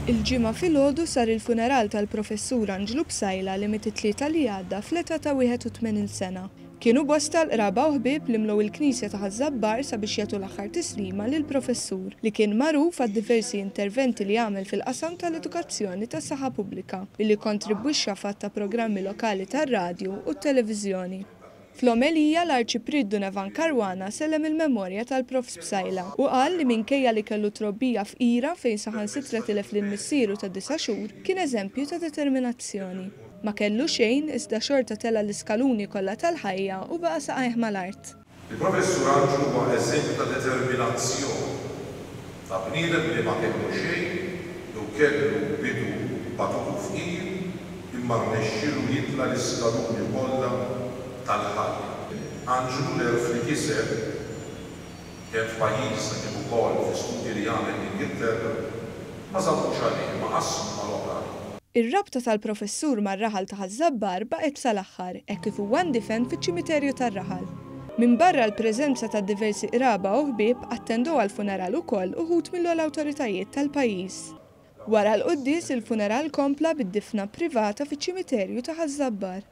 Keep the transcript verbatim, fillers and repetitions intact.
Il-Ġimgħa filgħodu sar il-funeral tal-Professur Anġlu Psaila li miet it-Tlieta li għadda fl-età ta' wieħed u tmenin sena. Kienu bosta l-qraba u ħbieb li mlew il-knisja ta' Ħaż-Żabbar sabiex jagħtu l-aħħar tislima lill-professur li kien magħruf għad-diversi interventi li għamel fil-qasam tal-edukazzjoni tas-saħħa pubblika billi kontribwixxa f'għadd ta' programmi lokali tar-radju u t-televiżjoni. Fl-omelija l-Arċipriet Dun Evan Caruana sellem il-memorja tal-Profs Psaila u qal li minkejja li kellu trobbija fqira fejn saħansitra tilef lil missieru ta' disa' xhur kien eżempju ta' determinazzjoni. Ma kellu xejn iżda xorta tela' l-iskaluni kollha tal-ħajja u baqa' saqajh mal-art. Il-Professur Anġlu huwa eżempju ta' determinazzjoni, ta' bniedem li ma kellu xejn jew kellu bidu batut u fqir imma rnexxielu jitla' l-iskaluni kollha tal-ħajja. Anġlu l-għerf li kiseb kemm f'pajjiżna kif ukoll fi studji li għamel l-Ingilterra ma żammux għalih imma qasmu mal-oħrajn. Ir-rabta tal-professur mar-raħal ta' Ħaż-Żabbar baqgħet sal-aħħar hekk kif huwa ndifen fiċ-ċimiterju tar-raħal. Minbarra l-preżenza ta' diversi qraba u ħbieb attendew għall-funeral ukoll uħud mill-ogħla awtoritajiet tal-pajjiż. Wara l-quddies il-funeral kompla bid-difna privata fiċ-ċimiterju ta' Ħaż-Żabbar.